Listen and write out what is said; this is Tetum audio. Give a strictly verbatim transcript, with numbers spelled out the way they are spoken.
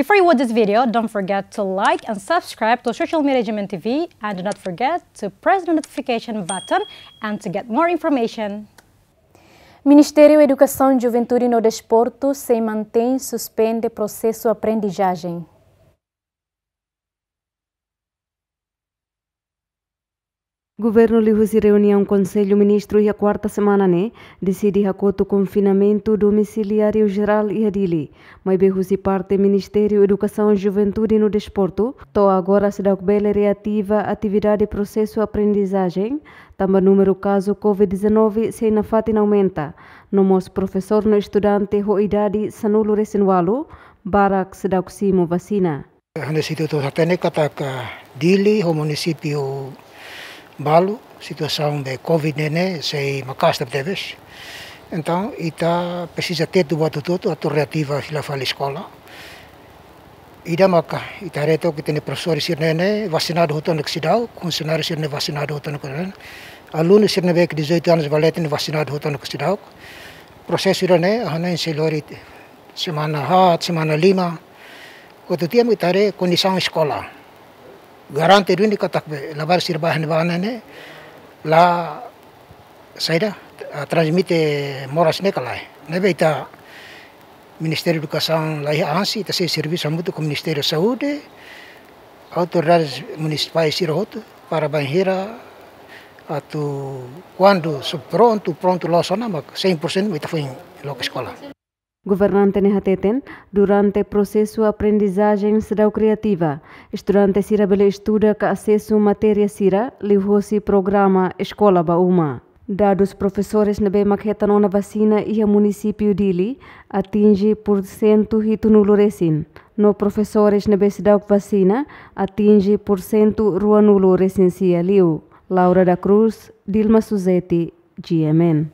Before you watch this video, don't forget to like and subscribe to social media G M N T V, and do not forget to press the notification button and to get more information. Ministériu Edukasaun, Juventude no Desportu sei mantein suspende prosesu aprendizajen. Governu liuhusi reuniaun Konsellu Ministru iha kuarta semana ne'e, deside hakotu konfinamentu domiciliáriu jerál iha Dili. Maibé husi parte Ministériu Edukasaun, Juventude no Desportu, to'o agora seidauk bele reativa atividade prosesu aprendizajen, tanba númeru kazu COVID dezanove sei nafatin aumenta. No mós profesór no estudante ho idade sanulu-resin-ualu, barak seidauk simu vasina. Hane situ tu hatene katak Dili ho munisípiu balu, situasaun be COVID ne'e ne'e sei maka'as tebetebes. Entaun, ita presiza tetu buat hotu-hotu atu reativa fila fali eskola. Ida maka, ita haree took ita-nia profesór sira ne'e ne'e vasinadu hotu-hotu seidauk, funsionáriu sira ne'e vasinadu hotu-hotu seidauk. Alunu sira ne'ebé ke dezoito anos ba leten ne'e vasinadu hotu-hotu seidauk. Prosesu ida-ne'e, hane sei lori semana haat, semana lima. Hotu tiha mak ita haree kondisaun eskola. Garante duni katak be, labarik sira ba iha ne'ebá ne'e, la saida, ah, transmite moras ne'e ka lae. Ne'ebé ita Ministériu Edukasaun laiha ansi, ita sei servisu hamutuk ho Ministériu Saúde, autoridades munisipais sira hotu, para bainhira atu kuandu só prontu, prontu loos ona, mak cem por cento mak ita foin loke eskola. Governante ne'e hateten, durante prosesu aprendizajen seidauk reativa, estudante sira bele estuda ka asesu matéria sira liuhosi programa Eskola ba Uma. Dadus profesores ne'ebé mak hetan ona vasina iha munisípiu Dili atinje porsentu hitunulu-resin. No profesores ne'ebé seidauk vasina atinje porsentu ruanulu-resin-sia liu. Laura da Cruz, Dilma Suzeti, G M N.